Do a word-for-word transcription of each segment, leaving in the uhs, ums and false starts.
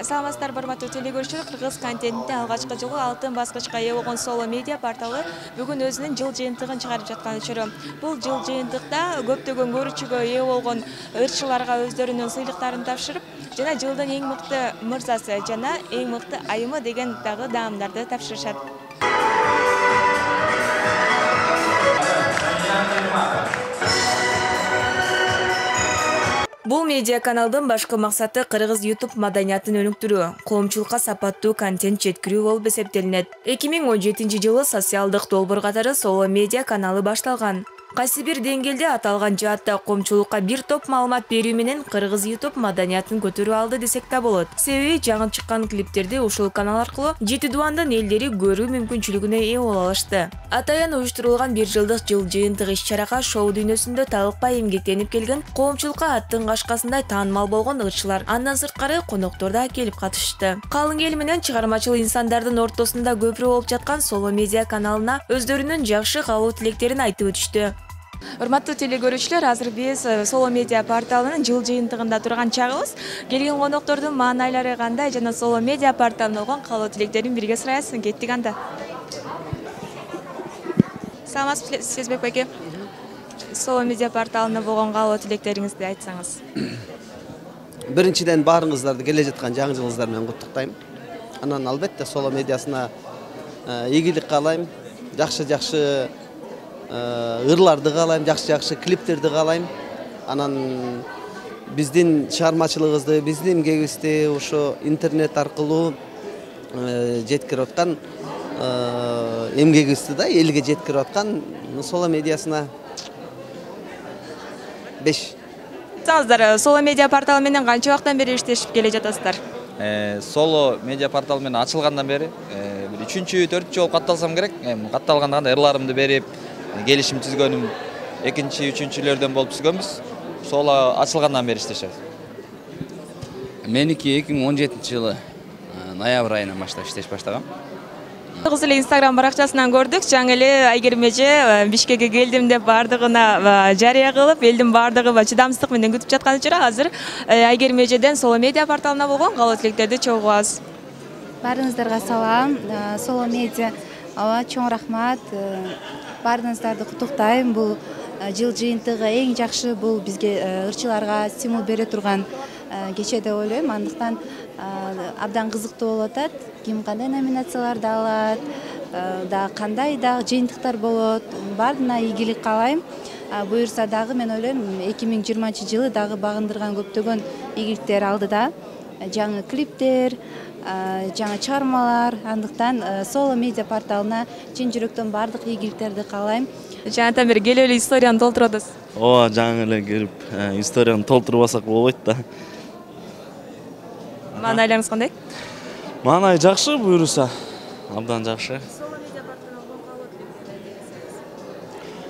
Саламатсыздар, урматтуу телекөрүүчүлөр. Кыргыз контентинде алгачкы жолу алтын баскычка ээ болгон Solo Media порталы бүгүн өзүнүн жыл жыйынтыгын чыгарып жаткан учуру. Бул жыл жыйынтыкта көптөгөн көрүүчүгө ээ болгон ырчыларга өздөрүнүн сыйлыктарын тапшырып, жана жылдын эң мыкты мырзасы жана эң мыкты айымы деген дагы даамдарды тапшырышат. Бул медиа каналдын башкы максаты кыргыз YouTube маданиятын өнүктүрүү, коомчулукка сапаттуу контент жеткирүү болуп эсептелинет. эки миң он жетинчи жылы социалдык долбоор катары Solo Media каналы башталган. Кайсы бир деңгээлде аталган жаатта коомчулукка бир топ маалымат берүү менен кыргыз YouTube маданиятын көтөрүп алды десек да болот. Себеби жаңы чыккан клиптерди ушул канал аркылуу жети дубандын элдери көрүү мүмкүнчүлүгүнө ээ боло алышты. Атайын уюштурулган бир жылдык жыл жыйынтык иш-чарага шоу дүйнөсүндө талыкпай эмгектенип келген, коомчулукка аттын кашкасындай таанымал болгон ырчылар, андан сырткары коноктор да келип катышты. Калың эл менен чыгармачыл инсандардын ортосунда көпүрө болуп жаткан Solo Media каналына өздөрүнүн жакшы каалоо тилектерин айтып өтүштү. Урматтуу телекөрүүчүлөр, азыр биз Solo Media порталынын жыл жыйынтыгында турган чагыбыз. Келген коноктордун маанайлары кандай жана Solo Media порталына болгон каалоо тилектерин бирге сурайбыз. Кеттик анда. Саламатсызбы, Сезбек байке. Solo Media порталына болгон каалоо тилектериңизди айтсаңыз. Биринчиден баарыңыздарды келе жаткан жаңы жылыңыздар менен куттуктайм. Анан албетте Solo Mediasына ийгилик каалайм, жакшы-жакшы ырларды каалайм, жакшы-жакшы клиптерди каалайм. Анан биздин чыгармачылыгыбызды, биздин эмгегибизди ошо интернет аркылуу жеткирип аткан эмгегибизди да элге жеткирип аткан Solo Mediasына беш. Саңыздар, Solo Media порталы менен канча убакыттан бери иштешип келе жатасыздар? Solo Media порталы менен ачылгандан бери бир үчүнчү, төртүнчү жолу катталсам керек. Катталганда кандай ырларымды берип, келишим түзгөнүм экинчи, үчүнчүлөрдөн болуп түзгөнбүз. Solo ачылгандан бери иштешебиз. Меники эки миң он жетинчи жылы ноябрь айынан баштап иштеш баштагам. Кызыл Instagram баракчасынан көрдүк. Жаңы эле Айгерим эже Бишкекке келдим деп бардыгына жарыя кылып, элдин бардыгы чыдамсыздык менен күтүп жаткан учурда азыр Айгерим эжеден Solo Media порталына болгон каалоо тилектерди чогубуз. Баарыңыздарга салам. Solo Media ава чоң рахмат. Баарыңыздарды куттуктайм. Бул жыл жыйынтыгы эң жакшы, бул бизге ырчыларга стимул бере турган кече деп ойлойм. Андыктан абдан кызыктуу болуп атат. Ким кандай номинацияларды алат, да кандай да жыйынтыктар болот. Баарына ийгилик каалайм. Буюрса дагы мен ойлойм эки миң жыйырманчы жылы дагы багындырган көптөгөн ийгиликтер алдыда. Жаңы клиптер, жаңы чыгармалар. Андыктан Solo Media порталына чын жүрөктөн бардык ийгиликтерди каалайм. Жанатан бери келип эле историяны толтуруп атасыз. Ооба, жаңы эле келип историяны толтурбасак болбойт да. Маанайларыңыз кандай? Маанай жакшы, буюрса абдан жакшы.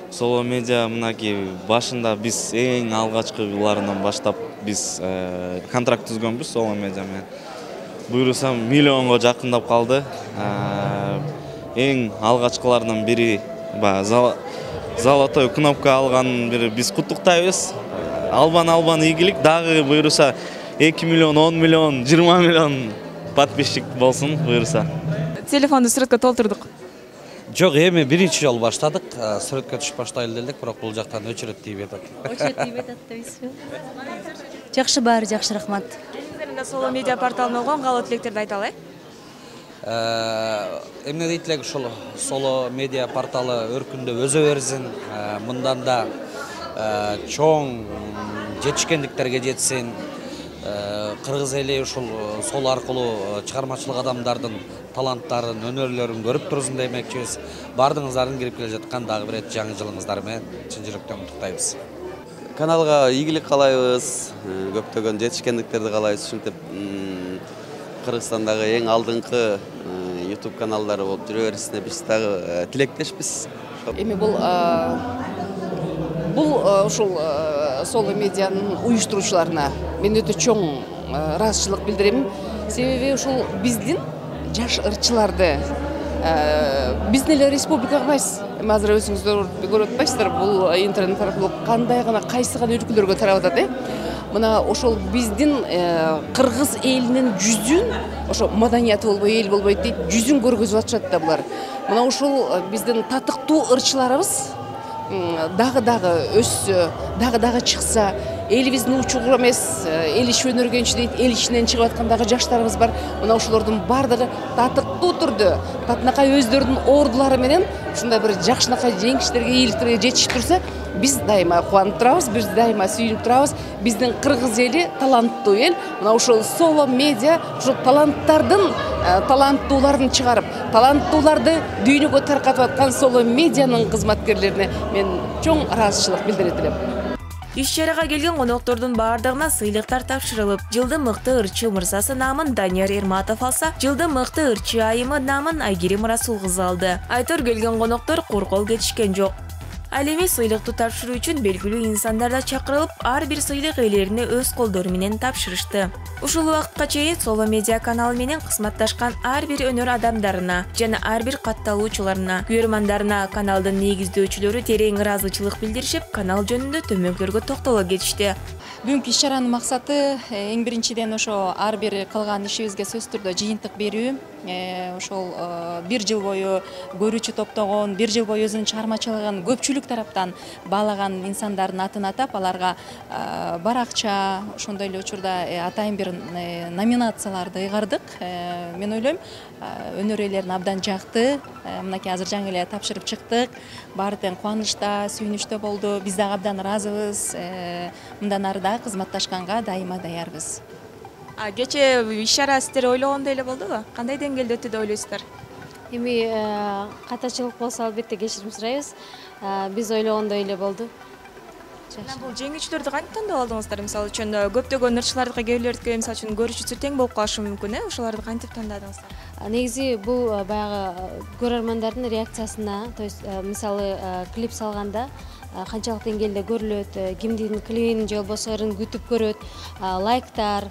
Solo Media мынаки башында биз эң алгачкы жылдарынан баштап биз контракт түзгөнбүз Solo Media менен. Буюрса миллионго жакындап калды. Эң алгачкылардан бири золотой кнопка алган бири биз куттуктайбыз. Албан-албан ийгилик, дагы буюрса эки миллион, он миллион, жыйырма миллион подписчик болсун буюрса. Телефонду сүрөткө толтурдук. Жок, эми биринчи жолу баштадык. Сүрөткө түшүп баштайлы делдик, бирок бул жактан өчүрөт тийип атат. Өчүрөт тийип атат дейсизби? Жакшы, баары жакшы, рахмат. Сиздерде Solo Media порталына болгон каалоо тилектерди айта алай? Эмне дейт элек, ушул Solo Media порталы өркүндөп өзө берсин, мындан да чоң жетишкендиктерге жетсин. Кыргыз эли ушул сол аркылуу чыгармачылык адамдардын таланттарын, өнөрлөрүн көрүп турсун демекчибиз. Бардыгыңыздардын кирип келе жаткан дагы бир жаңы жылыңыздар менен чын жүрөктөн куттуктайбыз. Каналга ийгилик каалайбыз, көптөгөн жетишкендиктерди каалайбыз. Ушинтип Кыргызстандагы эң алдыңкы YouTube каналдары болуп жүрө берисине биз дагы тилектешпиз. Эми бул бул ушул Solo Media'нын уюштуруучуларына мен өтө чоң ыраазычылык билдирем. Себеби ушул биздин жаш ырчыларды биздин эле республикага эмес, азыр өзүңүздөр көрүп атпайсыздар, бул интернет аркылуу кандай гана кайсы гана өлкөлөргө тарап атат, э? мына ошол биздин кыргыз элинин жүзүн, ошо маданияты болбой эл болбойт дейт, жүзүн көргөзүп атышат да булар. Мына ушул биздин татыктуу ырчыларыбыз дагы дагы өссө, дагы дагы чыкса, элибиздин учугу эмес, эл иш өнөргөнчү дейт, эл ишинен чыгып аткан дагы жаштарыбыз бар. Мына ошолордун бардыгы татыктуу түрдө, татынакай өздөрүнүн ордулары менен ушундай бир жакшынакай жеңиштерге, ийгиликтерге жетишип турса, биз дайыма кубанып турабыз, биз дайыма сүйүнүп турабыз. Биздин кыргыз эли таланттуу эл. Мына ошол Solo Media ушул таланттардын, таланттууларын чыгарып, таланттууларды дүйнөгө таркатып аткан Solo Medianын кызматкерлерине мен чоң ыраазычылык билдирет элем. Иш-чарага келген коноктордун баардыгына сыйлыктар тапшырылып, жылдын мыкты ырчы мырзасы наамын Данияр Эрматов алса, жылдын мыкты ырчы айымы наамын Айгерим Расул кызы алды. Айтор келген коноктор куркол кетишкен жок. Ал эми сыйлыкты тапшыруу үчүн белгилүү инсандар да чакырылып, ар бир сыйлык ээлерине өз колдору менен тапшырышты. Ушул убакытка чейин Solo Media каналы менен кызматташкан ар бир өнөр адамдарына жана ар бир катталуучуларына, көрөрмандарына каналдын негиздөөчүлөрү терең ыраазычылык билдиришип, канал жөнүндө төмөнкүлөргө токтоло кетишти. Бүгүнкү иш-чаранын максаты эң биринчиден ошо ар бир кылган ишибизге сөзсүз түрдө жыйынтык берүү. Ошол бир жыл бою көрүүчү топтогон, бир жыл бою өзүнүн чыгармачылыгын көпчүлүк тараптан баалаган инсандардын атын атап, аларга баракча, ошондой эле учурда атайын бир номинацияларды ыйгардык. Мен ойлойм, өнөр ээлерин абдан жакты. Мынакей азыр жаңы эле тапшырып чыктык. Баары тең кубанычта, сүйүнүчтө болду. Биз дагы абдан ыраазыбыз. Мындан ары да кызматташканга дайыма даярбыз. А кече иш-чара сиздер ойлогондой эле болдубу? Кандай деңгээлде өттү деп ойлойсуздар? Эми катачылык болсо албетте кечирим сурайбыз. Биз ойлогондой эле болду. Жана бул жеңүүчүлөрдү кантип тандап алдыңыздар? Мисалы үчүн көптөгөн ырчылардыкы, кээ бирлердикке мисалы үчүн көрүүчүсү тең болуп калышы мүмкүн, э? Ошолорду кантип тандадыңыздар? Негизи бул баягы көрөрмандардын реакциясына, то есть мисалы клип салганда канчалык деңгээлде көрүлөт, кимдин клибин же болбосо ырын күтүп көрөт, лайктар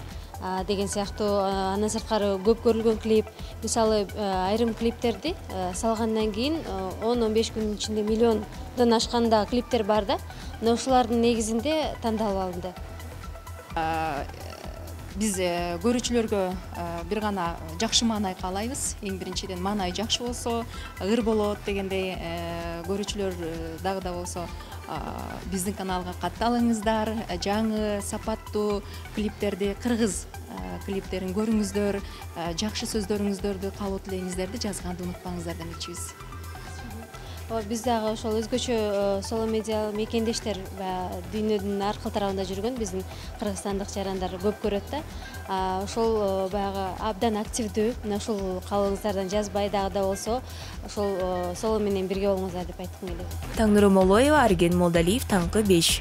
деген сыяктуу. Андан сырткары көп көрүлгөн клип, мисалы айрым клиптерди салгандан кийин он он беш күнүн ичинде миллиондон ашкан да клиптер бар да. Мына ушулардын негизинде тандалып алынды. Биз көрүүчүлөргө бир гана жакшы маанай каалайбыз. Эң биринчиден маанай жакшы болсо, ыр болот дегендей, көрүүчүлөр дагы да болсо биздин каналга катталыңыздар, жаңы сапаттуу клиптерди, кыргыз клиптерин көрүңүздөр, жакшы сөздөрүңүздөрдү кабыл тилейиңиздерди жазганды унутпаңыздар демекчибиз. Биз дагы ошол өзгөчө Solo Media мекендештер дүйнөнүн ар кыл тарабында жүргөн биздин кыргызстандык жарандар көп көрөт да. Ошол баягы абдан активдүү. Мына ушул кабылыңыздардан жазбай дагы да болсо, ошол Solo менен бирге болуңуздар деп айткым келет. Таңнуру Молоева, Арген Молдалиев, Таңкы беш.